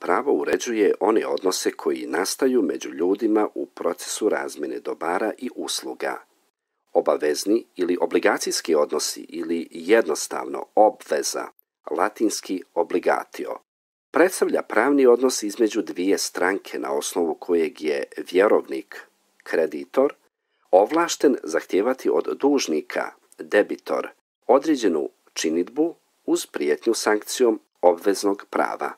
pravo uređuje one odnose koji nastaju među ljudima u procesu razmjene dobara i usluga. Obavezni ili obligacijski odnosi ili jednostavno obveza, latinski obligatio, predstavlja pravni odnos između dvije stranke na osnovu kojeg je vjerovnik, kreditor, ovlašten zahtijevati od dužnika, debitor, određenu činidbu uz prijetnju sankcijom obveznog prava.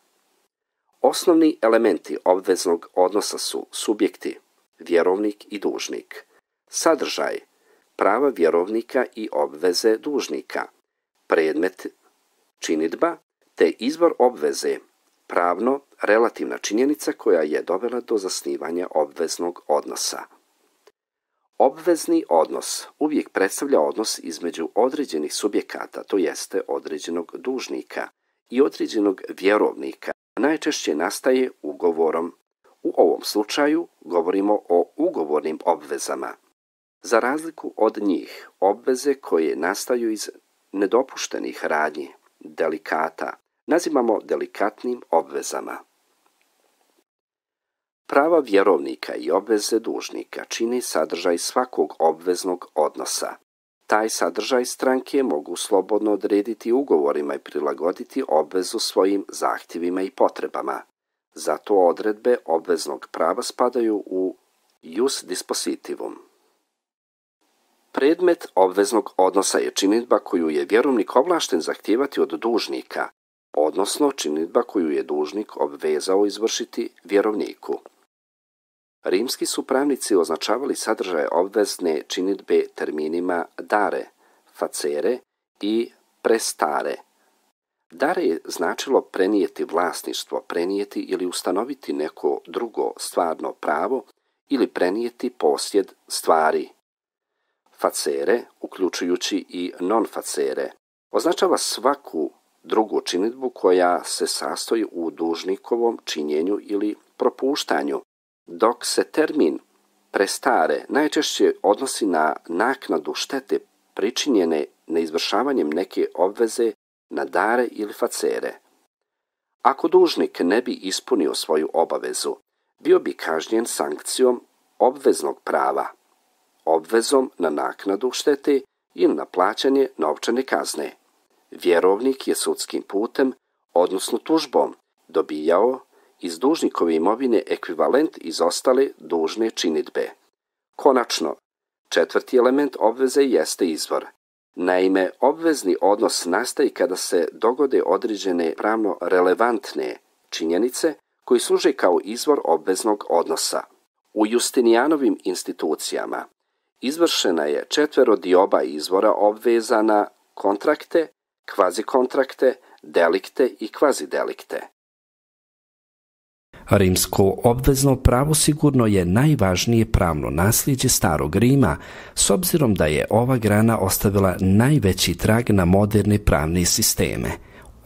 Osnovni elementi obveznog odnosa su subjekti, vjerovnik i dužnik, sadržaj, prava vjerovnika i obveze dužnika, predmet, činidba, te izvor obveze, pravno relativna činjenica koja je dovela do zasnivanja obveznog odnosa. Obvezni odnos uvijek predstavlja odnos između određenih subjekata, to jeste određenog dužnika i određenog vjerovnika. Najčešće nastaje ugovorom. U ovom slučaju govorimo o ugovornim obvezama. Za razliku od njih, obveze koje nastaju iz nedopuštenih radnji, delikata, nazivamo delikatnim obvezama. Prava vjerovnika i obveze dužnika čini sadržaj svakog obveznog odnosa. Taj sadržaj stranke mogu slobodno odrediti ugovorima i prilagoditi obvezu svojim zahtjevima i potrebama. Zato odredbe obveznog prava spadaju u ius dispositivum. Predmet obveznog odnosa je činidba koju je vjerovnik ovlašten zahtijevati od dužnika, odnosno činidba koju je dužnik obvezao izvršiti vjerovniku. Rimski su pravnici označavali sadržaje obvezne činidbe terminima dare, facere i prestare. Dare je značilo prenijeti vlasništvo, prenijeti ili ustanoviti neko drugo stvarno pravo ili prenijeti posjed stvari. Facere, uključujući i non-facere, označava svaku drugu činidbu koja se sastoji u dužnikovom činjenju ili propuštanju, dok se termin prestare najčešće odnosi na naknadu štete pričinjene neizvršavanjem neke obveze na dare ili facere. Ako dužnik ne bi ispunio svoju obavezu, bio bi kažnjen sankcijom obveznog prava, obvezom na naknadu štete ili na plaćanje novčane kazne. Vjerovnik je sudskim putem, odnosno tužbom, dobijao iz dužnikove imovine ekvivalent izostale dužne činidbe. Konačno, četvrti element obveze jeste izvor. Naime, obvezni odnos nastaje kada se dogode određene pravno relevantne činjenice koji služe kao izvor obveznog odnosa. U Justinijanovim institucijama izvršena je četverodioba izvora obveza na kontrakte, kvazikontrakte, delikte i kvazidelikte. Rimsko obvezno pravo sigurno je najvažnije pravno nasljeđe starog Rima, s obzirom da je ova grana ostavila najveći trag na moderne pravne sisteme.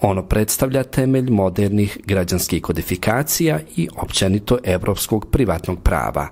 Ono predstavlja temelj modernih građanskih kodifikacija i općenito evropskog privatnog prava.